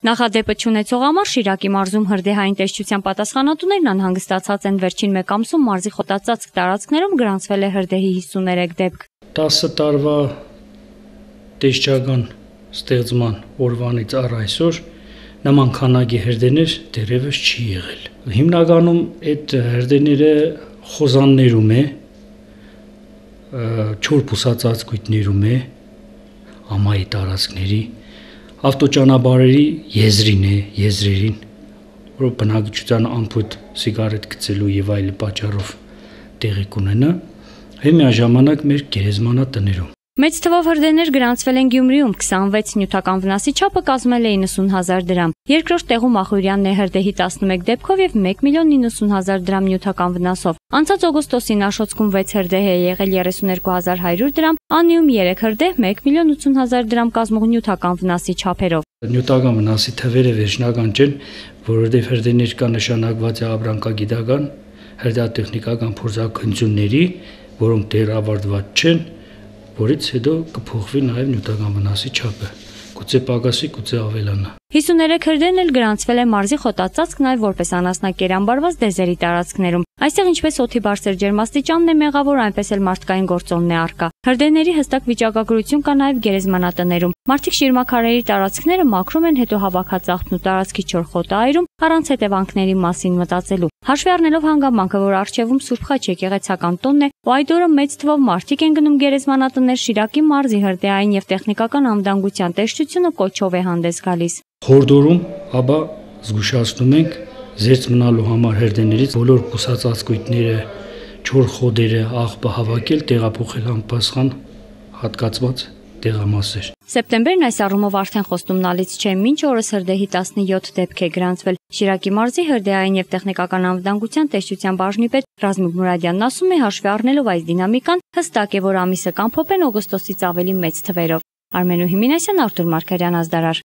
Նախադեպը չունեցող համար Շիրակի մարզում հրդեհային տեսչության պատասխանատուներն անհանգստացած են վերջին մեկ ամսում մարզի խոտածածկ տարածքներում գրանցվել է հրդեհի 53 դեպք։ 10 տարվա տեսչական ստեղծման օրվանից առ այսօր նման քանակի հրդեհներ դեռևս չի եղել։ Հիմնականում այդ հրդեհները խոզաններում է, չոր բուսածածկույթներում է, ամայի տարածքների, ավտոճանապարհերի եզրերին, որ բնակչության անփույթ սիգարետ գցելու եւ այլ պատճառով տեղի կունենա, եւ միաժամանակ մեր գերեզմանատներում։ Մեծ թվով հրդեհներ գրանցվել են Գյումրիում, 26 նյութական վնասի չափը կազմել է 90,000 դրամ։ Երկրորդ տեղում Ախուրյանն է հրդեհի 11 դեպքով եւ 1,90,000 դրամ նյութական վնասով։ Անցած օգոստոսին Աշոտսկում 6 հրդեհ է եղել 32,100 դրամ, Անիում 3 հրդեհ 1,80,000 դրամ կազմող նյութական վնասի չափերով։ Նյութական վնասի թվերը վերջնական չեն, որովհետեւ հրդեհներ կա նշանակված է ապրանքագիտական, հրդեհատեխնիկական փորձաքննությունների, որոնք դեռ ավարտված չեն, որից հետո կփոխվի նաև նյութական վնասի չափը, գուցե պակասի, գուցե ավելանա։ 53 հրդեհն էլ գրանցվել է մարզի խոտածածկ նաև որպես անասնակերամբարված դեզերի տարածքներում։ Այստեղ ինչպես օդի բարձր ջերմաստիճանն է մեղավոր, այնպես էլ մարդկային գործոնն է առկա։ Հրդեհների հստակ վիճակագրություն կա նաև գերեզմանատներում։ Մարդիկ շիրմաքարերի տարածքները մաքրում են, հետո հավաքած աղբն ու տարածքի չոր խոտը այրում, առանց հետևանքների մասին մտածելու։ Հաշվի առնելով հանգամանքը, որ առջևում Սուրբ Խաչ եկեղեցական տոնն է, ու այդ օրը մեծ թվով մարդիկ են գնում գերեզմանատներ, Շիրակի մարզի հրդեհային եւ տեխնիկական անվտանգության տեսչությունը կոչով է հանդես գալիս։ Խորդորում, ապա զգուշացնում ենք զերծ մնալու համար հրդեհներից բոլոր բուսածածկույթները, չոր խոդերը, աղբը հավաքել, տեղափոխել անպասխան հատկացված տեղամասեր։ Սեպտեմբերն այս առումով արդեն խոստումնալից չէ, մինչ օրս հրդեհի 17 դեպք է գրանցվել։ Շիրակի մարզի հրդեհային եւ տեխնիկական անվտանգության տեսչության բաժնի պետ Ռազմիկ Մուրադյանն ասում է, հաշվի առնելով այս դինամիկան, հստակ է, որ ամիսը կամփոփեն օգոստոսից ավելի մեծ թվերով։ Արմենու Հիմինասյան, Արթուր Մարգարյան, Ազդարար։